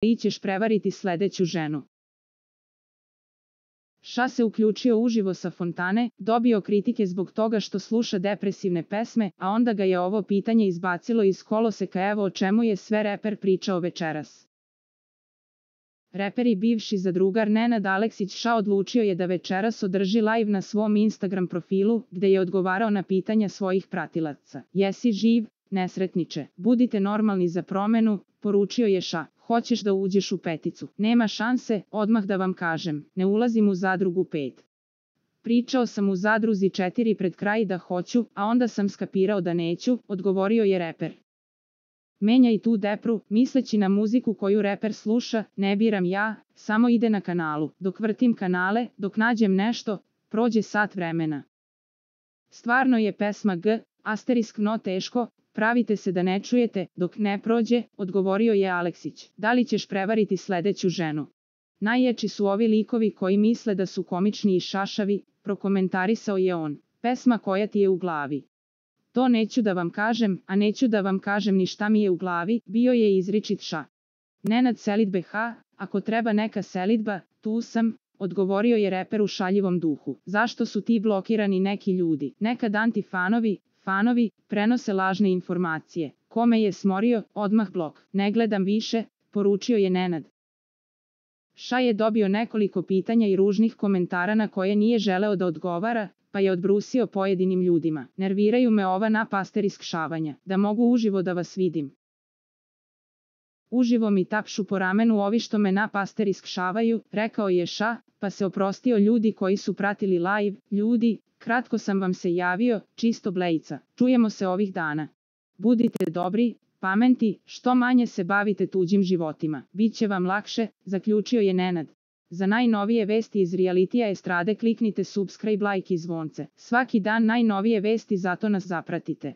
Ili ćeš prevariti sledeću ženu. Ša se uključio uživo sa fontane, dobio kritike zbog toga što sluša depresivne pesme, a onda ga je ovo pitanje izbacilo iz koloseka. Evo o čemu je sve reper pričao večeras. Reper i bivši zadrugar Nenad Aleksić Ša odlučio je da večeras održi live na svom Instagram profilu, gde je odgovarao na pitanja svojih pratilaca. Jesi živ, nesretniče? Budite normalni za promenu, poručio je Ša. Hoćeš da uđeš u peticu? Nema šanse, odmah da vam kažem, ne ulazim u zadrugu 5. Pričao sam u zadruzi 4 pred kraj da hoću, a onda sam skapirao da neću, odgovorio je reper. Menjaj tu depru, misleći na muziku koju reper sluša, ne biram ja, samo ide na kanalu. Dok vrtim kanale, dok nađem nešto, prođe sat vremena. Stvarno je pesma G, no teško, pravite se da ne čujete, dok ne prođe, odgovorio je Aleksić. Da li ćeš prevariti sledeću ženu? Najjači su ovi likovi koji misle da su komični i šašavi, prokomentarisao je on. Pesma koja ti je u glavi. To neću da vam kažem, a neću da vam kažem ni šta mi je u glavi, bio je izričit Ša. Nenad selidbe ako treba neka selidba, tu sam, odgovorio je reper u šaljivom duhu. Zašto su ti blokirani neki ljudi? Nekad fanovi, prenose lažne informacije. Kome je smorio, odmah blok. Ne gledam više, poručio je Nenad. Ša je dobio nekoliko pitanja i ružnih komentara na koje nije želeo da odgovara, pa je odbrusio pojedinim ljudima. Nerviraju me ova napasteriskšavanja, da mogu uživo da vas vidim. Uživo mi tapšu po ramenu ovi što me napasteriskšavaju, rekao je Ša, pa se oprostio ljudi koji su pratili live. Ljudi, kratko sam vam se javio, čisto blejica. Čujemo se ovih dana. Budite dobri, pameti, što manje se bavite tuđim životima. Biće vam lakše, zaključio je Nenad. Za najnovije vesti iz realitija estrade kliknite subscribe, like i zvonce. Svaki dan najnovije vesti, zato nas zapratite.